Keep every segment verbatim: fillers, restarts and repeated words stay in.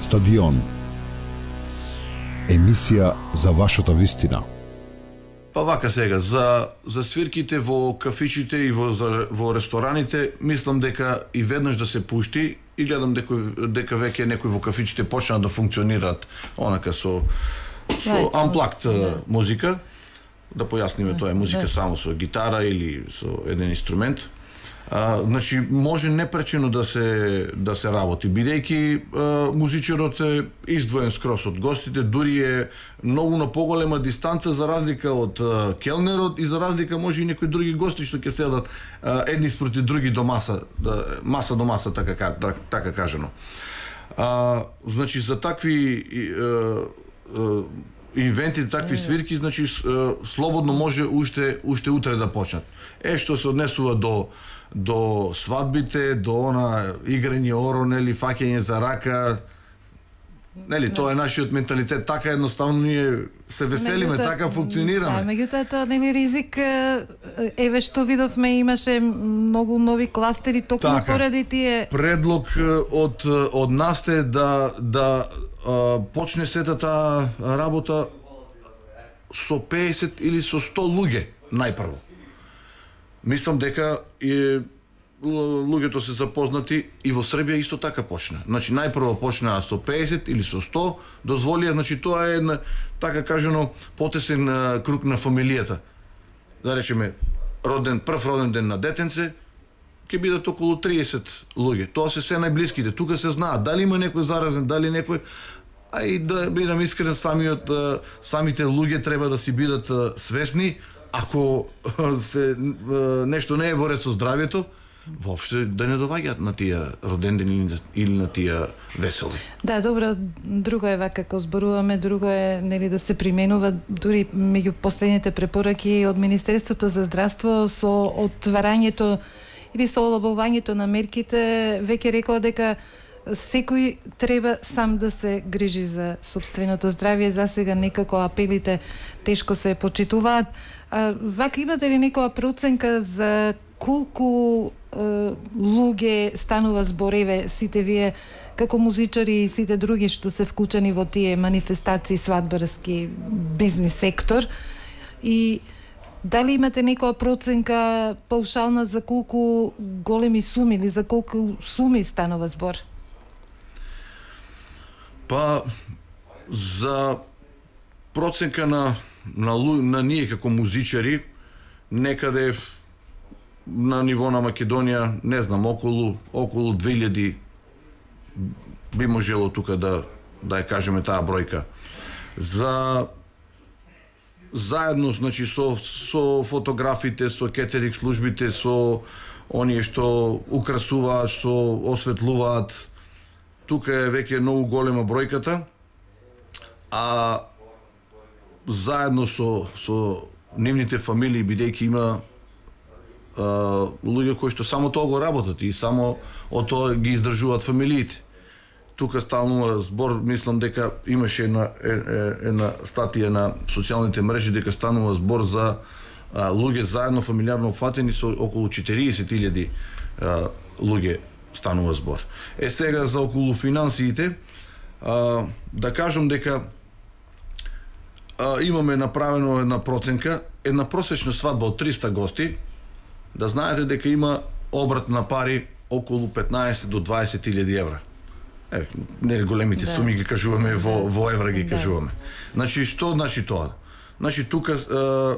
Стадион. Емисија за вашата вистина. Па вака сега, за, за свирките во кафичите и во, за, во рестораните, мислам дека и веднаш да се пушти и гледам дека, дека веќе некои во кафичите почнаа да функционираат онака со, со амплакт музика. Да појасниме, тоа е музика само со гитара или со еден инструмент. А, значи може непречено да се да се работи, бидејќи музичарот е издвоен скрос од гостите, дури е многу на поголема дистанца за разлика од а, келнерот и за разлика може и некои други гости што ќе седат а, едни спроти други до маса, да, маса до маса така така, така кажано. А, значи за такви а, а, инвенти, такви свирки, значи слободно може уште уште утре да почнат. Е што се однесува до до свадбите, до она играње оро, нели, фаќање за рака, нели, тоа е нашиот менталитет, така едноставно ние се веселиме, така функционираме. Да, меѓутоа тоа нели ризик, еве што видовме, имаше многу нови кластери токму поради тие. Предлог од од нас е да да а, почне сета таа работа со песет или со сто луѓе најпрво. Мислам дека и луѓето се запознати и во Србија исто така почна. Значи најпрво почнаа со песет или со сто, дозволија, значи тоа е една така кажано потесен круг на фамилијата. Да речеме роден прв роден ден на детенце ќе бидат околу триесет луѓе. Тоа се се најблиските. Тука се знаат дали има некој заразен, дали некој. А и да бидам искрен, самиот самите луѓе треба да си бидат свесни. Ако се нешто не е во ред со здравјето, воопште да не доаѓаат на тие родендени или на тие весели. Да, добро, друго е вака како зборуваме, друго е нели да се применува, дури меѓу последните препораки од Министерството за здравство со отварањето или со олабувањето на мерките, веќе рекоа дека секој треба сам да се грижи за собственото здравје. За сега некако апелите тешко се почитуваат. А, вака имате ли некоја проценка за колку е, луѓе станува збореве, сите вие како музичари и сите други што се вклучени во тие манифестации, свадбарски, бизнис сектор, и дали имате некоја проценка паушална за колку големи суми или за колку суми станува збор? Па за проценка на на, на ние како музичари некаде на ниво на Македонија, не знам, околу околу две илјади би можело тука да да ја кажеме таа бројка. За заедно, значи со со фотографите, со кетеринг службите, со оние што украсуваат, што осветлуваат, тука е веќе многу голема бројката, а заедно со со нивните фамилии, бидејќи има а, луѓе кои што само тоа го работат и само од тоа ги издржуваат фамилиите. Тука станува збор, мислам дека имаше една една статија на социјалните мрежи дека станува збор за а, луѓе заедно фамилиарно фатени со околу четириесет илјади луѓе станува збор. Е сега за околу финансиите, а, да кажам дека а, имаме направено една проценка, една просечна свадба од триста гости, да знаете дека има обрат на пари околу петнаесет до дваесет илјади евра. Е, не големите да. суми ги кажуваме, во, во евра ги да. кажуваме. Значи, што значи тоа? Значи, тука а, а,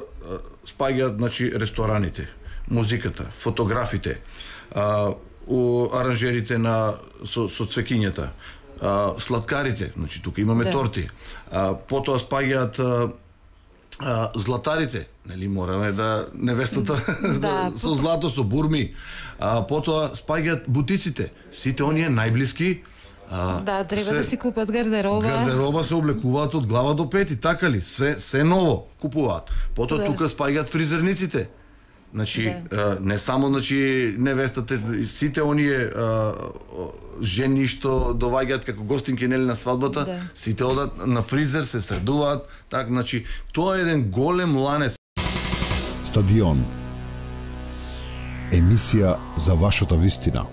спаѓаат, значи, рестораните, музиката, фотографите, а, у аранжерите на со, со цвекињата, а, сладкарите, значи тука имаме да. торти. А, потоа спаѓаат а, а, златарите, нели мораме да невестата да, со злато, со бурми. А, потоа спаѓаат бутиците, сите оние најблиски. А, да, треба се, да си купат гардероба. Гардероба се облекуваат од глава до пети, така ли? Се се ново купуваат. Потоа да. тука спаѓаат фризерниците. Значи, да. не само, значи, невестата, сите оние а, жени што доваѓаат како гостинки, нели, на свадбата, да. сите одат на фризер, се средуваат, так, значи, тоа е еден голем ланец. Стадион. Емисија за вашата вистина.